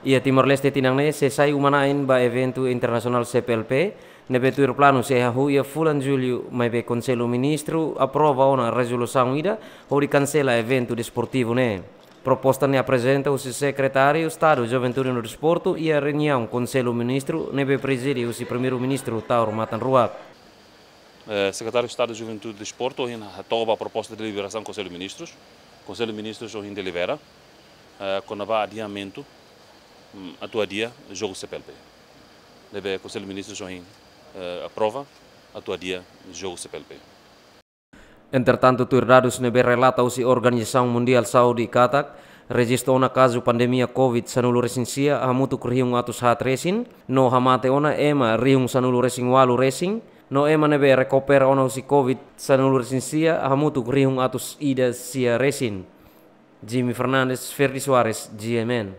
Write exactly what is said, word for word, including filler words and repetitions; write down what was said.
Iha Timor-Leste tinan ne'e sei sai uma-na'in ba eventu internasionál C P L P ne'ebé tuir planu sei hahú iha fulan Jullu, maibé Konsellu Ministru aprova ona rezolusaun ida hodi kansela eventu desportivu ne'e. Proposta ne'e aprezenta husi Sekretáriu Estadu Juventude no Desportu iha reuniaun Konsellu Ministru ne'ebé prezide husi Primeiru-Ministru Taur Matan Ruak. Eh, Sekretáriu Estadu Juventude e Desportu ohin hato'o ba proposta deliberasaun Konsellu Ministrus. Konsellu Ministrus ohin delibera, eh, kona-ba adiamentu, mm, atu adia jogu C P L P. Ne'ebé Konsellu Ministrus ohin, eh, aprova atu adia jogu C P L P. Entretantu, tuir dadus ne'ebé relata husi Organizasaun Mundiál Saúde katak rejistu ona kazu pandemia COVID sanulu-resin-sia hamutuk rihun atus haat resin, no hamate ona ema rihun sanulu-resin-ualu resin, no ema ne'ebé rekupera ona husi COVID sanulu-resin-sia hamutuk rihun atus ida sia resin. Jimmy Fernandes, Ferdi Soares, G M N.